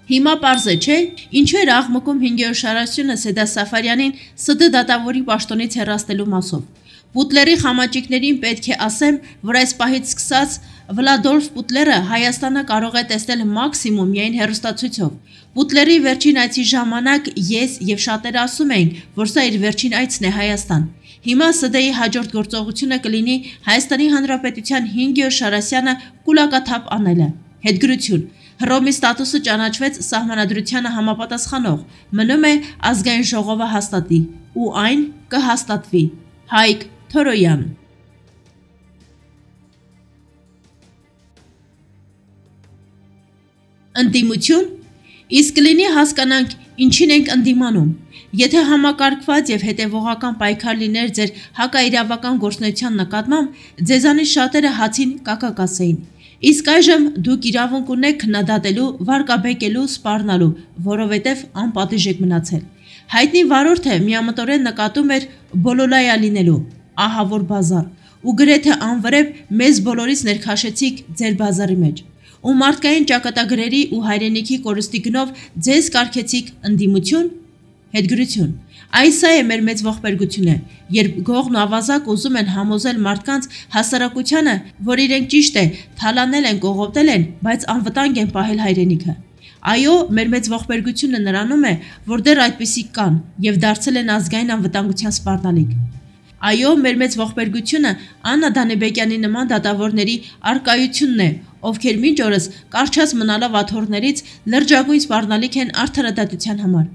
Հիմա պարզ է, չէ, ինչու էր աղմկում 5-րդ շարասյունը Սեդա Սաֆարյանին ՍԴ դատավորի պաշտոնից հեռացնելու մասով։ Պուտլերի խամաճիկներին պետք է ասեմ, որ այս պահից սկսած Վլադոլֆ Պուտլերը Հայաստանը կարող է տեսնել մաքսիմում միայն հեռուստացույցով։ Պուտլերի վերջին այցի ժամանակ ես եւ շատերը ասում էին, որ սա իր վերջին այցն է Հայաստան։ Հիմա ՍԴ-ի հաջորդ գործողությունը կլինի Հայաստանի Հանրապետության 5-րդ շարասյանը կուլակաթափ անելը։ Հետգրություն։ Հռոմի ստատուսը ճանաչվեց սահմանադրությանը համապատասխանող, մնում է ազգային ժողովը հաստատի, ու այն կհաստատվի։ Հայկ Թորոյան։ Ընդդիմություն։ Իսկ կլինի հասկանանք ինչին ենք ընդդիմանում։ Եթե համակարգված եւ հետեւողական պայքար լիներ ձեր հակաիրավական գործունեության նկատմամբ, ձեզանից շատերը հացին կակա կասեին։ Իսկ այժմ դուք իրավունք ունեք քննադատելու, վարկաբեկելու, սպառնալու, որովհետև անպատիժ եք մնացել։ Հայտնի վարորդը միամտորեն նկատում էր բոլոլայա լինելու, ահավոր բազար, ու գրեթե անվրեպ մեզ բոլորից ներքաշեցիք ձեր բազարի մեջ, ու մարդկային ճակատագրերի ու հայրենիքի կորստի գնով ձեզ կարգեցիք ընդդիմություն, հետգրություն։ Այսա է մեր մեծ ողբերգությունը, երբ գողն ու ավազակ ուզում են համոզել մարդկանց հասարակությանը, որ իրենք ճիշտ է, թալանել են, կողոպտել են, բայց անվտանգ են պահել հայրենիքը։ Այո, մեր մեծ ողբերգությունը նրանում է, որ դեռ այդպիսիք կան եւ դարձել են ազգային անվտանգության սպառնալիք։ Այո, մեր մեծ ողբերգությունը Աննա Դանեբեկյանի նման դատավորների արկայությունն է, ովքեր մինչ օրս կարճած մնալով աթոռներից լրջագույն սպառնալիք են արդարադատության համար։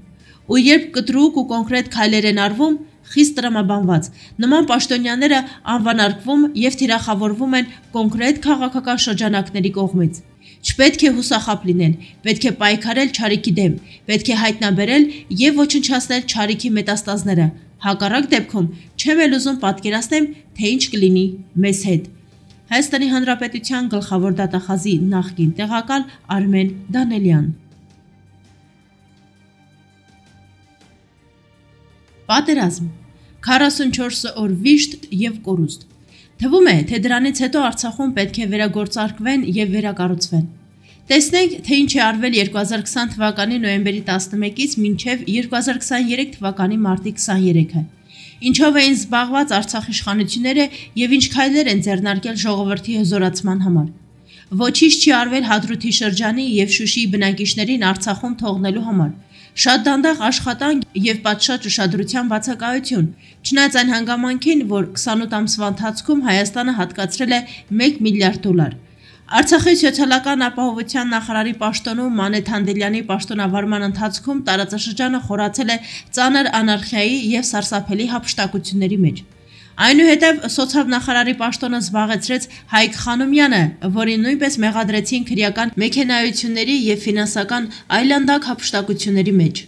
Ու երբ կտրուկ ու կոնկրետ քայլեր են արվում, խիստ տրամաբանված, նման պաշտոնյաները անվանարկվում եւ թիրախավորվում են կոնկրետ քաղաքական շրջանակների կողմից։ Չպետք է հուսախաբ լինել, պետք է պայքարել չարիքի դեմ, պետք է հայտնաբերել եւ ոչնչացնել չարիքի մետաստազները։ Հակառակ դեպքում չեմ էլ ուզում պատկերացնեմ, թե ինչ կլինի մեզ հետ։ Հայաստանի Հանրապետության գլխավոր դատախազի նախկին տեղակալ Արմեն Դանելյան։ Պատերազմ, 44 օր վիշտ եւ կորուստ։ Թվում է, թե դրանից հետո Արցախում պետք է վերագործարկվեն եւ վերակառուցվեն։ Տեսնենք, թե ինչ է արվել 2020 թվականի նոյեմբերի 11-ից մինչև 2023 թվականի մարտի 23-ը։ Ինչով էին զբաղված Արցախ իշխանությունները եւ ինչ քայլեր են ձեռնարկել ժողովրդի հզորացման համար։ Ոչինչ չի արվել Հադրութի շրջանի եւ Շուշիի բնակիչներին Արցախում թողնելու համար։ Շատ դանդաղ աշխատանք եւ պատշաճ ուշադրության բացակայություն, չնայած այն հանգամանքին, որ 28 ամսվա ընթացքում Հայաստանը հատկացրել է $1 միլիարդ։ Արցախի սոցիալական ապահովության նախարարի պաշտոնում Մանե Թանդելյանի պաշտոնավարման ընթացքում տարածաշրջանը խորացել է ծանր անարխիայի եւ սարսափելի հափշտակությունների մեջ։ Այնուհետև սոցիալնախարարի պաշտոնը զբաղեցրեց Հայկ Խանոմյանը, որին նույնպես մեղադրեցին քրեական մեքենայությունների եւ ֆինանսական այլանդակ հափշտակությունների մեջ։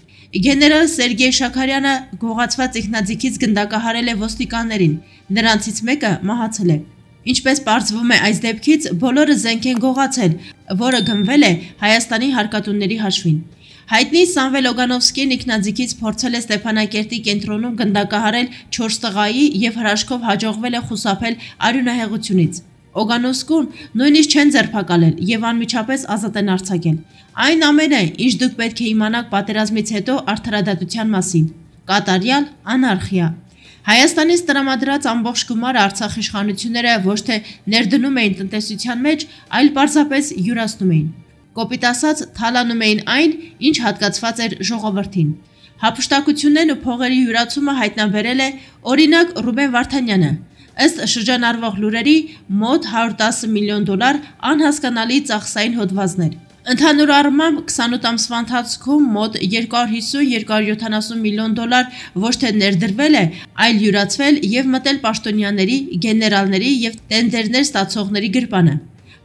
Գեներալ Սերգեյ Շաքարյանը գողացված ինքնաձիգից գնդակահարել է ոստիկաններին, նրանցից մեկը մահացել է։ Ինչպես պարզվում է այս դեպքից, բոլորը զենք են գողացել, որը գնվել է Հայաստանի հարկատունների հաշվին։ Հայտնի Սամվել Օգանովսկին ինքնաձիգից փորձել է Ստեփանակերտի կենտրոնում գնդակահարել 4 տղայի եւ հրաշքով հաջողվել է խուսափել արյունահեղությունից։ Օգանովսկուն նույնիսկ չեն ձերբակալել եւ անմիջապես ազատ են արձակել։ Այն ամենը, ինչ դուք պետք է իմանաք պատերազմից հետո արդարադատության մասին։ Կատարյալ անարխիա։ Հայաստանից տրամադրած ամբողջ գումարը Արցախ իշխանությունները ոչ թե ներդնում էին տնտեսության մեջ, այլ պարզապես յուրացնում էին։ Կոպիտ ասած, թալանում էին այն, ինչ հատկացված էր ժողովրդին։ Հափշտակություններն ու փողերի յուրացումը հայտնաբերել է օրինակ Ռուբեն Վարդանյանը։ Ըստ շրջանառվող լուրերի մոտ $110 միլիոն անհասկանալի ծախսային հոդվածներ։ Ընդհանուր առմամբ 28 ամսվա ընթացքում մոտ $250-270 միլիոն ոչ թե ներդրվել է, այլ յուրացվել եւ մտել պաշտոնյաների, գեներալների եւ տենդերներ ստացողների գրպանը։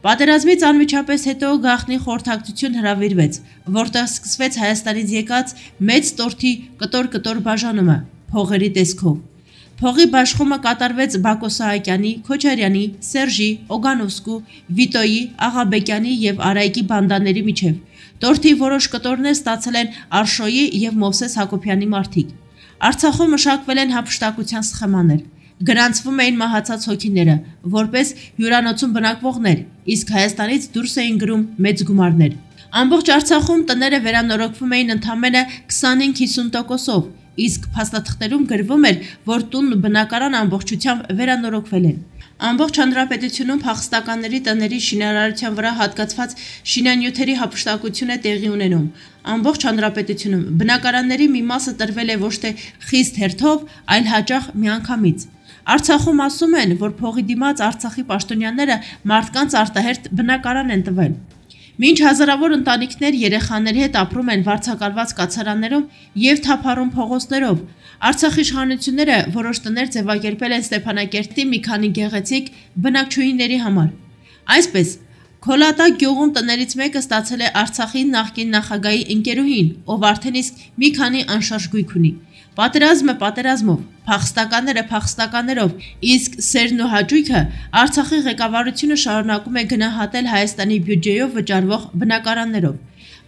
Պատերազմից անմիջապես հետո գաղտնի խորհրդակցություն հրավիրվեց, որտեղ սկսվեց Հայաստանից եկած մեծ տորթի կտոր բաժանումը փողերի տեսքով։ Փողի բաշխումը կատարվեց Բակո Սահակյանի, Քոչարյանի, Սերժի, Օգանովսկու, Վիտոյի, Աղաբեկյանի եւ Արայկի բանդաների միջև։ Տորթի որոշ կտորներ ստացել են Արշոյի եւ Մովսես Հակոբյանի մարդիկ։ Արցախում մշակվել են հափշտակության սխեմաներ։ Գրանցվում էին մահացած հոգիները, որպես հյուրանոցում բնակվողներ, իսկ Հայաստանից դուրս էին գրում մեծ գումարներ։ Ամբողջ Արցախում տները վերանորոգվում էին ընդամենը 25-50%-ով, իսկ փաստաթղթերում գրվում էր, որ տունն ու բնակարան ամբողջությամբ վերանորոգվել են։ Ամբողջ հանրապետությունում փախստականների տների շինարարության վրա հատկացված շինանյութերի հափշտակություն է տեղի ունենում։ Ամբողջ հանրապետությունում բնակարանների մի մասը տրվել է ոչ թե խիստ հերթով, այլ հաճախ միանգամից։ Արցախում ասում են, որ փողի դիմաց Արցախի պաշտոնյաները մարդկանց արտահերթ բնակարան են տվել։ Մինչ հազարավոր ընտանիքներ երեխաների հետ ապրում են վարձակալված կացարաններում եւ թափառում փողոցներով, Արցախի իշխանությունները որոշ տներ ձևակերպել են Ստեփանակերտի մի քանի գեղեցիկ բնակչուհիների համար։ Այսպես, Քոլատա գյուղում տներից մեկը ստացել է Արցախի նախկին նախագահի ընկերուհին, ով արդեն իսկ մի քանի անշարժ գույք ունի։ Պատերազմը պատերազմով, փախստականները փախստականներով, իսկ սերն ու հաճույքը Արցախի ղեկավարությունը շարունակում է գնահատել Հայաստանի բյուջեով վճարվող բնակարաններով։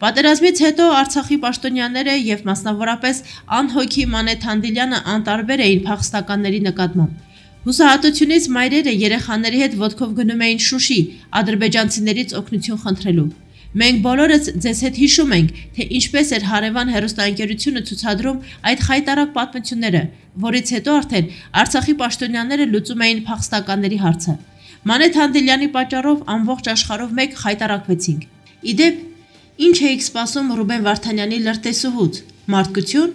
Պատերազմից հետո Արցախի պաշտոնյաները եւ մասնավորապես անհոգի Մանե Թանդիլյանը անտարբեր էին փախստականների նկատմամբ։ Հուսահատությունից մայրերը երեխաների հետ ոտքով գնում էին Շուշի, ադրբեջանցիներից օգնություն խնդրելու։ Մենք բոլորս ձեզ հետ հիշում ենք, թե ինչպես էր հարևան հեռուստաընկերությունը ցուցադրում այդ խայտարակ պատմությունները, որից հետո արդեն Արցախի պաշտոնյաները լուծում էին փախստականների հարցը։ Մանե Թանդիլյանի պատճառով ամբողջ աշխարհով մեկ խայտարակվեցինք։ Իդեպ, ինչ էիք սպասում Ռուբեն Վարդանյանի լրտեսուհուց։ Մարդկություն։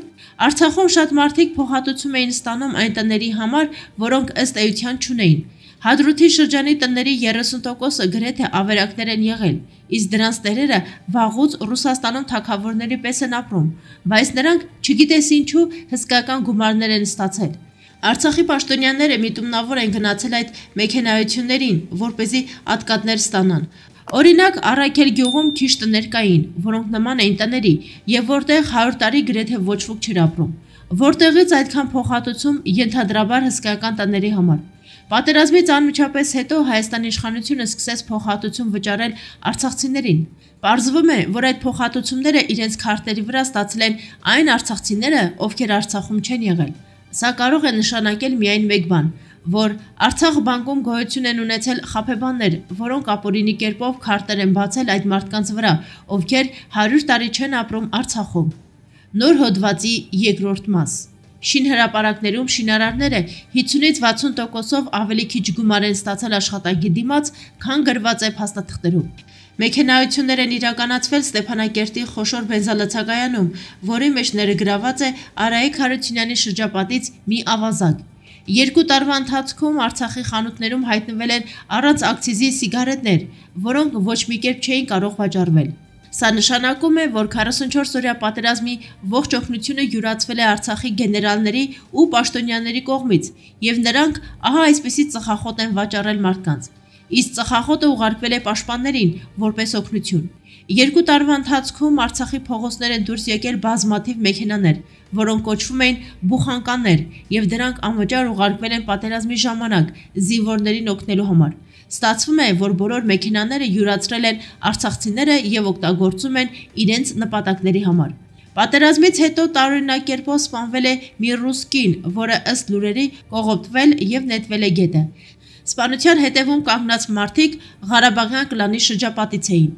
Արցախում շատ մարդիկ փոխհատուցում էին ստանում այն տների համար, որոնք ըստ էության չունեին։ Հադրութի շրջանի տների 30%-ը գրեթե ավերակներ են եղել, իսկ դրանց տերերը վաղուց Ռուսաստանում թագավորների պես են ապրում, բայց նրանք չգիտես ինչու հսկայական գումարներ են ստացել։ Արցախի պաշտոնյաները միտումնավոր են գնացել այդ մեքենայություններին, որպեսզի ատկատներ ստանան։ Օրինակ, Առաքել գյուղում քիչ տներ կային, որոնք նման էին տների, եւ որտեղ 100 տարի գրեթե ոչ ոք չէր ապրում։ Որտեղից այդքան փոխհատուցում ենթադրաբար հսկայական տների համար։ Պատերազմից անմիջապես հետո Հայաստանի իշխանությունը սկսեց փոխհատուցում վճարել արցախցիներին։ Պարզվում է, որ այդ փոխհատուցումները իրենց քարտերի վրա ստացել են այն արցախցիները, ովքեր Արցախում չեն եղել։ Սա կարող է նշանակել միայն մեկ բան, որ Արցախ բանկում գոյություն են ունեցել խաբեբաններ, որոնք ապօրինի կերպով քարտեր են բացել այդ մարդկանց վրա, ովքեր 100 տարի չեն ապրում Արցախում։ Նոր հոդվածի երկրորդ մաս։ Շինհրապարակներում շինարարները 50-ից 60%-ով ավելի քիչ գումար են ստացել աշխատանքի դիմաց, քան գրված է փաստաթղթերում։ Մեքենայություններ են իրականացվել Ստեփանակերտի խոշոր բենզալցակայանում, որի մեջ ներգրաված է Արայիկ Հարությունյանի շրջապատից մի ավազակ։ 2 տարվա ընթացքում Արցախի խանութներում հայտնվել են առանց ակցիզի սիգարետներ, որոնք ոչ մի կերպ չէին կարող վաճառվել։ Սա նշանակում է, որ 44-օրյա պատերազմի ողջ օգնությունը յուրացվել է Արցախի գեներալների ու պաշտոնյաների կողմից, եւ նրանք ահա այսպիսի ծխախոտ են վաճառել մարդկանց։ Իսկ ծխախոտը ուղարկվել է պաշտպաններին որպես օգնություն։ 2 տարվա ընթացքում Արցախի փողոցներ են դուրս եկել բազմաթիվ մեքենաներ, որոնք կոչվում էին բուխանկաներ, եւ դրանք անվճար ուղարկվել են պատերազմի ժամանակ զինվորներին օգնելու համար։ Ստացվում է, որ բոլոր մեքենաները յուրացրել են արցախցիները եւ օգտագործում են իրենց նպատակների համար։ Պատերազմից հետո տարօրինակ կերպով սպանվել է մի ռուս կին, որը ըստ լուրերի կողոպտվել եւ նետվել է գետը։ Սպանության հետևում կանգնած մարդիկ Ղարաբաղյան կլանի շրջապատից էին։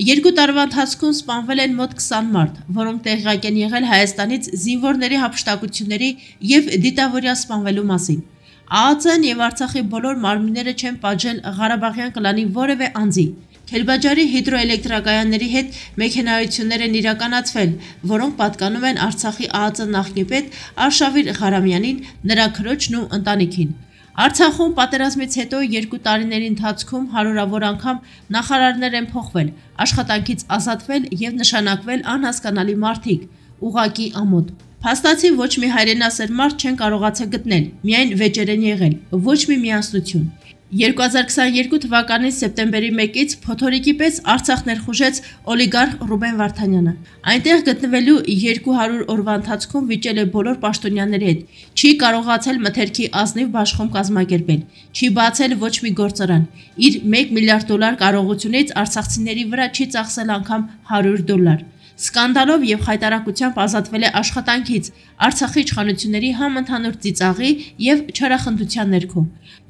2 տարվա ընթացքում սպանվել են մոտ 20 մարդ, որոնք տեղյակ են եղել Հայաստանից զինվորների հափշտակությունների եւ դիտավորյա սպանվելու մասին։ ԱԱՑ-ն եւ Արցախի բոլոր մարմինները չեն պատժել Ղարաբաղյան կլանի որևէ անձի։ Քելբաջարի հիդրոէլեկտրակայանների հետ մեքենայություններ են իրականացվել, որոնք պատկանում են Արցախի ԱԱՑ նախնիպետ Արշավիր Ղարամյանին, նրա քրոջն ու ընտանիքին։ Արցախում պատերազմից հետո 2 տարիների ընթացքում հարյուրավոր անգամ նախարարներ են փոխվել, աշխատանքից ազատվել եւ նշանակվել անհասկանալի մարդիկ, ուղակի ամոթ։ Փաստացի ոչ մի հայրենասեր մարդ չեն կարողացել գտնել, միայն վեճեր են եղել, ոչ մի միասնություն։ 2022 թվականի սեպտեմբերի 1-ից փոթորիկի պես Արցախ ներխուժեց օլիգարխ Ռուբեն Վարդանյանը։ Այնտեղ գտնվելու 200 օրվա ընթացքում վիճել է բոլոր պաշտոնյաների հետ, չի կարողացել մթերքի ազնիվ բաշխում կազմակերպել, չի բացել ոչ մի գործարան, իր $1 միլիարդ կարողությունից արցախցիների վրա չի ծախսել անգամ $100։ Սկանդալով եւ խայտարակությամբ ազատվել է աշխատանքից Արցախի իշխանությունների համընդհանուր ծիծաղի եւ չարախնդության ներքո։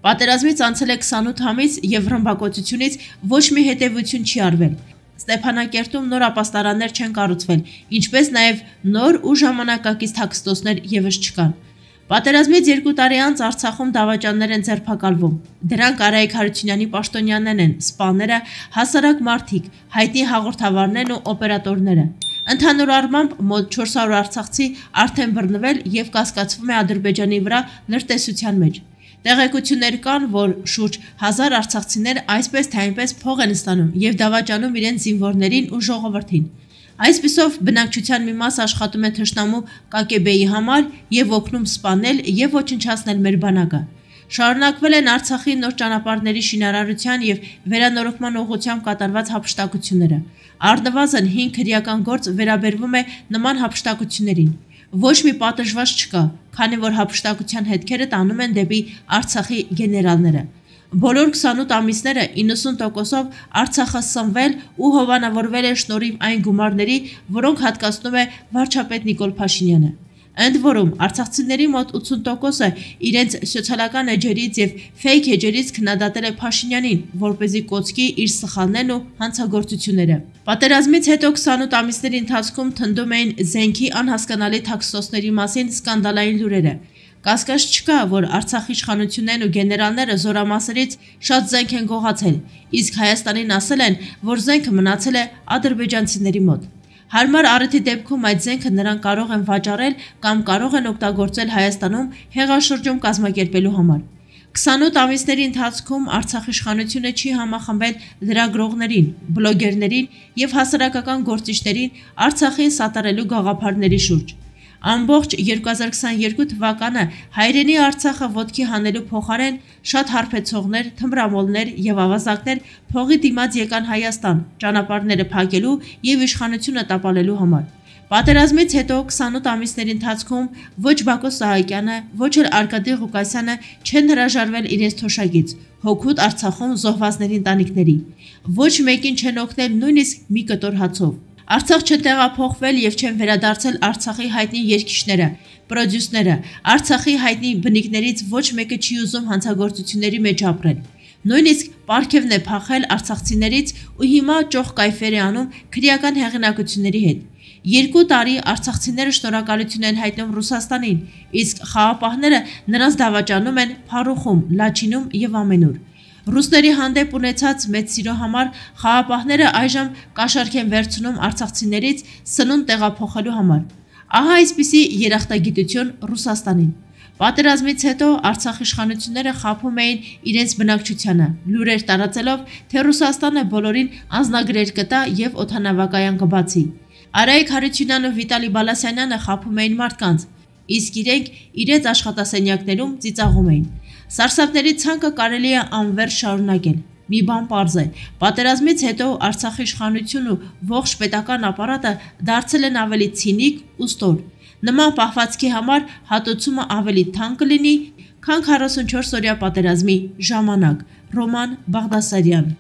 Պատերազմից անցել է 28 ամիս եւ ռմբակոծությունից ոչ մի հետեւություն չի արվել։ Ստեփանակերտում նոր ապաստարաններ չեն կառուցվել, ինչպես նաև նոր ու ժամանակակից թաքստոցներ ևս չկան։ Պատերազմից 2 տարի անց Արցախում դավաճաններ են ձերբակալվում։ Դրանք Արայիկ Հարությունյանի պաշտոնյաներն են, սպաները, հասարակ մարդիկ, հայտնի հաղորդավարներն ու օպերատորները։ Ընդհանուր առմամբ մոտ 400 արցախցի արդեն բռնվել եւ կասկածվում է Ադրբեջանի վրա լրտեսության մեջ։ Տեղեկություններ կան, որ շուրջ 1000 արցախցիներ այսպես թե այնպես փող են ստանում եւ դավաճանում իրենց զինվորներին ու ժողովրդին։ Այսպիսով բնակչության մի մաս աշխատում է թշնամու ԿԿԲ-ի համար եւ օգնում սպանել եւ ոչնչացնել մեր բանակը։ Շարունակվել են Արցախի նոր ճանապարհների շինարարության եւ վերանորոգման ուղղությամբ կատարված հափշտակությունները։ Առնվազն 5 քրեական գործ վերաբերվում է նման հափշտակություններին։ Ոչ մի պատժված չկա, քանի որ հափշտակության հետքերը տանում են դեպի Արցախի գեներալները։ Բոլոր 28 ամիսները 90%-ով Արցախը սնվել ու հովանավորվել է շնորհիվ այն գումարների, որոնք հատկացնում է վարչապետ Նիկոլ Փաշինյանը։ Ընդ որում, արցախցիների մոտ 80%-ը իրենց սոցիալական էջերից եւ ֆեյք էջերից քննադատել է Փաշինյանին, որպեսզի կոծկի իր սխալներն ու հանցագործությունները։ Պատերազմից հետո 28 ամիսների ընթացքում թնդում էին զենքի անհասկանալի թաքստոցների մասին սկանդալային լուրերը։ Կասկած չկա, որ Արցախի իշխանություններն ու գեներալները զորամասերից շատ զենք են գողացել, իսկ Հայաստանին ասել են, որ զենքը մնացել է ադրբեջանցիների մոտ։ Հարմար առիթի դեպքում այդ զենքը նրանք կարող են վաճառել կամ կարող են օգտագործել Հայաստանում հեղաշրջում կազմակերպելու համար։ 28 ամիսների ընթացքում Արցախի իշխանությունը չի համախմբել լրագրողներին, բլոգերներին եւ հասարակական գործիչներին Արցախին սատարելու գաղափարների շուրջ։ Ամբողջ 2022 թվականը հայրենի Արցախը ոտքի հանելու փոխարեն շատ հարբեցողներ, թմրամոլներ եւ ավազակներ փողի դիմաց եկան Հայաստան, ճանապարհները փակելու եւ իշխանությունը տապալելու համար։ Պատերազմից հետո 28 ամիսների ընթացքում ոչ Բակո Սահակյանը, ոչ էլ Արկադի Ղուկասյանը չեն հրաժարվել իրենց թոշակից, հոգուտ Արցախում զոհվածների ընտանիքների։ Ոչ մեկին չեն օգնել նույնիսկ մի կտոր հացով։ Արցախ չեն տեղափոխվել եւ չեն վերադարձել Արցախի հայտնի երգիչները, պրոդյուսերը, Արցախի հայտնի բնիկներից ոչ մեկը չի ուզում հանցագործությունների մեջ ապրել։ Նույնիսկ պարգևն է փախել արցախցիներից ու հիմա ճոխ կայֆեր է անում քրեական հեղինակությունների հետ։ 2 տարի արցախցիները շնորհակալություն են հայտնում Ռուսաստանին, իսկ խաղապահները նրանց դավաճանում են Փարուխում, Լաչինում եւ ամենուր։ Ռուսների հանդեպ ունեցած մեծ սիրո համար խաղապահները այժմ կաշառք են վերցնում արցախցիներից սնունդ տեղափոխելու համար։ Ահա այսպիսի երախտագիտություն Ռուսաստանին։ Պատերազմից հետո Արցախի իշխանությունները խաբում էին իրենց բնակչությանը, լուրեր տարածելով, թե Ռուսաստանը բոլորին անձնագրեր կտա եւ օդանավակայան կբացի։ Արայիկ Հարությունյանն ու Վիտալի Բալասյանյանը խաբում էին մարդկանց, իսկ իրենք իրենց աշխատասենյակներում ծիծաղում էին։ Սարսափների ցանկը կարելի է անվերջ շարունակել։ Մի բան պարզ է, պատերազմից հետո Արցախի իշխանությունն ու ողջ պետական ապարատը դարձել են ավելի ցինիկ ու ստոր։ Նման պահվածքի համար հատուցումը ավելի թանկ կլինի, քան 44 օրյա պատերազմի ժամանակ։ Ռոման Բաղդասարյան